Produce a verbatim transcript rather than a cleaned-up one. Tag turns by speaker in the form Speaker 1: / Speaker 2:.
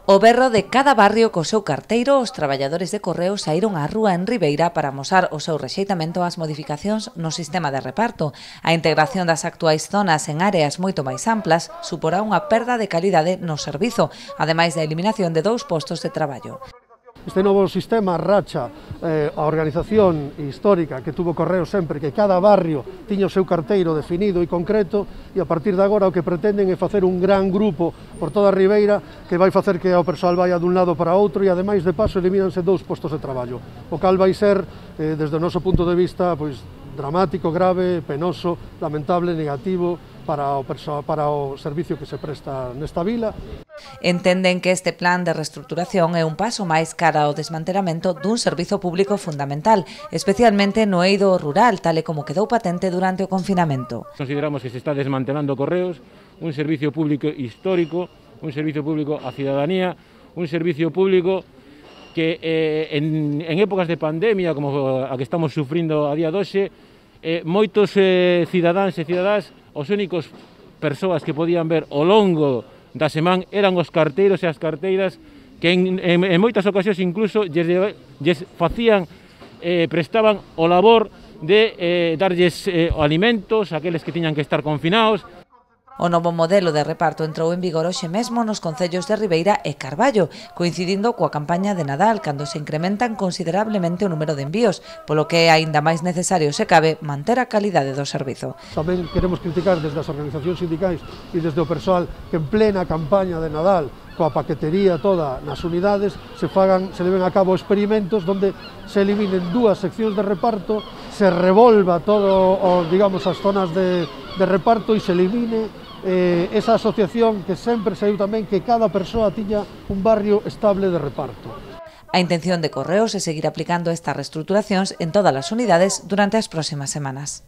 Speaker 1: O berro de cada barrio co seu carteiro, os traballadores de Correos saíron á rúa en Ribeira para amosar o seu rexeitamento ás modificacións no sistema de reparto. A integración das actuais zonas en áreas moito máis amplas suporá unha perda de calidade no servizo, ademais da eliminación de dous postos de traballo.
Speaker 2: Este novo sistema racha eh, a organización histórica que tuvo Correos sempre, que cada barrio tiña o seu carteiro definido e concreto, e a partir de agora o que pretenden é facer un gran grupo por toda a Ribeira que vai facer que o persoal vaya dun lado para outro e ademais de paso elimínanse dous postos de traballo, o cal vai ser, eh, desde o noso punto de vista, pois, dramático, grave, penoso, lamentable, negativo para o, para o servicio que se presta nesta vila.
Speaker 1: Entenden que este plan de reestruturación é un paso máis cara ao desmantelamento dun servizo público fundamental, especialmente no eido rural, tal e como quedou patente durante o confinamento.
Speaker 3: Consideramos que se está desmantelando Correos, un servicio público histórico, un servicio público á cidadanía, un servicio público que eh, en, en épocas de pandemia, como a que estamos sufrindo a día de hoxe, eh, moitos eh, cidadáns e cidadás, os únicos persoas que podían ver ao longo da semana eran os carteiros e as carteiras que en, en, en moitas ocasións incluso lles, lles facían, eh, prestaban o labor de eh, darlles eh, alimentos a aqueles que tiñan que estar confinados.
Speaker 1: O novo modelo de reparto entrou en vigor hoxe mesmo nos concellos de Ribeira e Carballo, coincidindo coa campaña de Nadal, cando se incrementan considerablemente o número de envíos, polo que é aínda máis necesario, se cabe, manter a calidade do servizo.
Speaker 2: Tamén queremos criticar desde as organizacións sindicais e desde o persoal que en plena campaña de Nadal, coa paquetería toda nas unidades, se fagan, se leven a cabo experimentos onde se eliminen dúas seccións de reparto, se revolva todo, o, digamos, as zonas de, de reparto e se elimine Eh, esa asociación que sempre saiu tamén que cada persoa tiña un barrio estable de reparto.
Speaker 1: A intención de Correos é seguir aplicando estas reestruturacións en todas as unidades durante as próximas semanas.